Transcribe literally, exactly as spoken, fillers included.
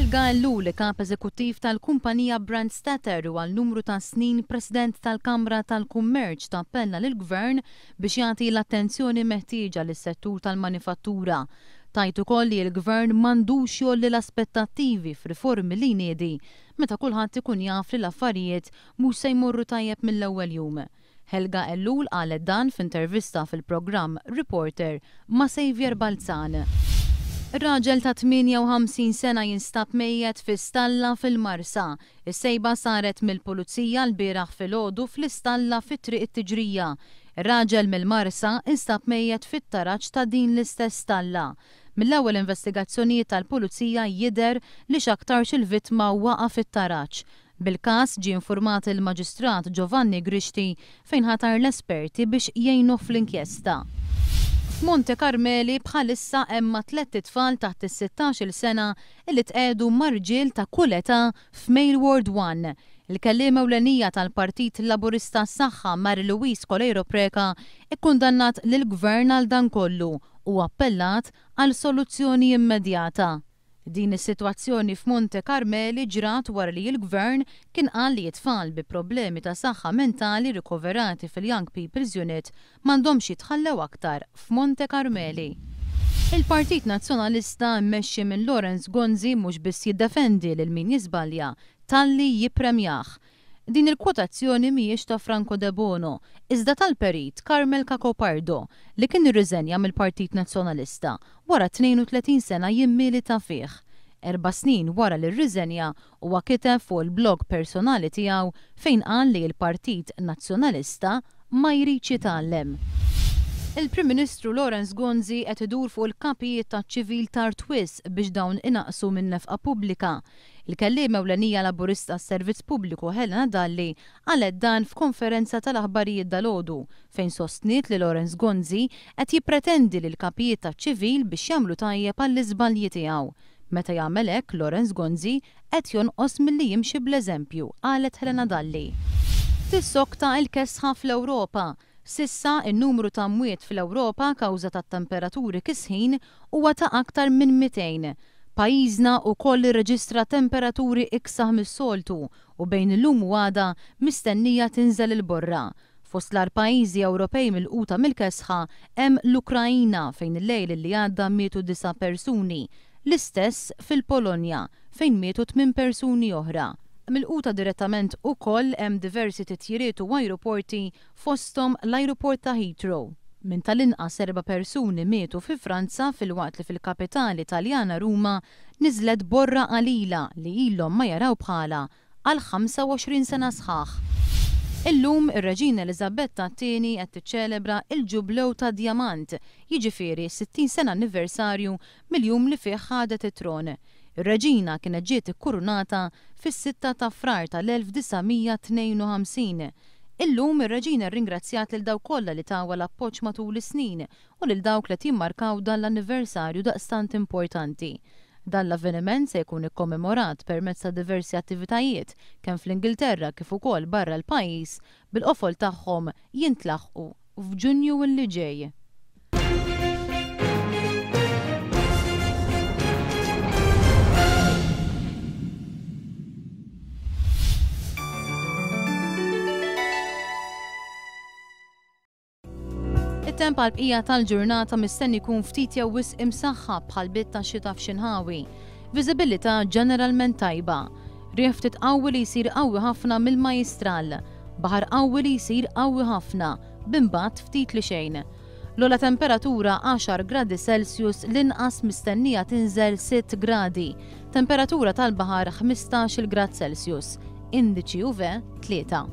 Helga Ellul, kap eżekuttiv tal-kumpanija Brandstatter u għal numru ta' snin president tal-Kamra tal-Kummerċ, tappella lill-Gvern biex jagħti l-attenzjoni meħtieġa lis-settur tal-manifattura. Tgħid ukoll li l-Gvern m'għandux jgħolli l-aspettattivi f'riformi li jniedi meta kulħadd ikun jaf li l-affarijiet mhux se jmorru tajjeb mill-ewwel jum. Helga Ellul qalet dan f'intervista fil-programm Reporter ma' Xavier Balzan. Raġel ta' tmienja u ħamsin sena jinstab mejjet fi stalla fil-Marsa. Is-sejba saret mill-pulizija l-bieraħ filgħodu fl-istalla fi Triq it-Tiġrija. Ir-raġel mill-Marsa instab mejjet fit-taraġ ta' din l-istess stalla. Mill-ewwel investigazzjonijiet tal-pulizija jidher li x'aktarx il-vittma waqa' fit-taraġ. Bil-każ ġie informat il-Maġistrat Giovanni Grixti fejn ħatar l-esperti biex jgħinu fl-inkjesta. F'Monte Carmeli bħalissa hemm tlett itfal taħt is-sittax-il sena li tqiegħdu ma' rġiel ta' kull età f'Male Ward One. Il-kellima ewlenija tal-Partit Laburista Saħħa Mary Louise Coleiro Preca ikkundannat lill-Gvern għal dan kollu u appellat għal soluzzjoni immedjata. Din is-sitwazzjoni f'Monte Carmeli ġrat wara li l-Gvern kien qal li t-tfal bi problemi ta' saħħa mentali rikoverati fil-Young People's Unit m'għandhomx jitħallew aktar f'Monte Carmeli. Il-Partit Nazzjonalista mmexxi minn Lawrence Gonzi mhux biss jiddefendi lil min jiżbalja, talli jippremjah. Din il-kwotazzjoni mhijiex ta' Franco Debono, iżda tal-perit Carmel Cacopardo li kien irriżenja mill-Partit Nazzjonalista wara tnejn u tletin sena jimmilita fih. Erba' snin wara li rriżenja, huwa kiteb fuq il-blog personali tiegħu fejn qal li l-Partit Nazzjonalista ma jridx jitgħallem. Il-Prim Ministru Lawrence Gonzi qed idur fuq il-kapijiet taċ-ċivil tard wisq biex dawn inaqsu minn nefqa pubblika. Il-kellima ewlenija Laburista s-Servizz Pubbliku Helena Dalli qalet dan f'konferenza tal-aħbarijiet dalgħodu fejn sostniet li Lawrence Gonzi qed jippretendi li l-kapijiet taċ-ċivil biex jagħmlu tajjeb għall-iżbalji tiegħu. Meta jagħmel hekk, Lawrence Gonzi qed jonqos milli jimxi bl-eżempju, qalet Helena Dalli. Tissokta il-kesħa fl-Ewropa. S'issa, in-numru ta' mwiet fl-Ewropa kawża ta' temperaturi kisħin huwa ta' aktar minn mitejn. Pajjiżna wkoll irreġistra temperaturi iksaħ mis-soltu u bejn illum u għada mistennija tinżel il-borra. Fost l-agħar pajjiżi Ewropej milquta mill-kesħa hemm l-Ukrajina fejn il-lejl li għadda mietu disa' persuni. L-istess fil-Polonja fejn mietu tmien persuni oħra. Milquta direttament ukoll hemm diversi titjiriet u ajruporti, fosthom l-ajruport ta' Heathrow. Minn tal-inqas erba' persuni mietu fi Franza filwaqt li fil-kapitali Taljana Ruma niżlet borra qalila li ilhom ma jaraw bħala għal ħamsa u għoxrin sena sħaħ. Illum ir-Reġina Eliżabetta t-tieni qed tiċċelebra il-ġublew ta' Diamant, jiġifieri sittin sena anniversarju mill-jum li fih ħadet it-tron. Ir-Reġina kienet ġiet ikkurunata fis-sitta ta' Frar tal-elf disa' mija tnejn u ħamsin. Illum ir-Reġina rringrazzjat lil dawk kollha li tawha l-appoġġ matul is-snin u lil dawk li jimmarkaw dan l-anniversarju daqstant importanti. Dan l-avveniment se jkun ikkommemorat permezz ta' diversi attivitajiet kemm fl-Ingilterra kif ukoll barra l-pajjiż, bil-qofol tagħhom jintlaħqu f'Ġunju li ġej. It-temp għal-bqija tal-ġurnata mistenni jkun ftit jew wisq imsaħħab b'ħalbiet ta' xita f'xi nħawi. Viżibilità ġeneralment tajba. Riħ ftit qawwi li jsir qawwi ħafna mill-Majistral. Baħar qawwi li jsir qawwi ħafna, b'imbatt ftit li xejn. L-ogħla temperatura għaxar gradi Celsius, l-inqas mistennija tinżel sitt gradi. Temperatura tal-baħar ħmistax-il grad Celsius. Indiċi U V tlieta.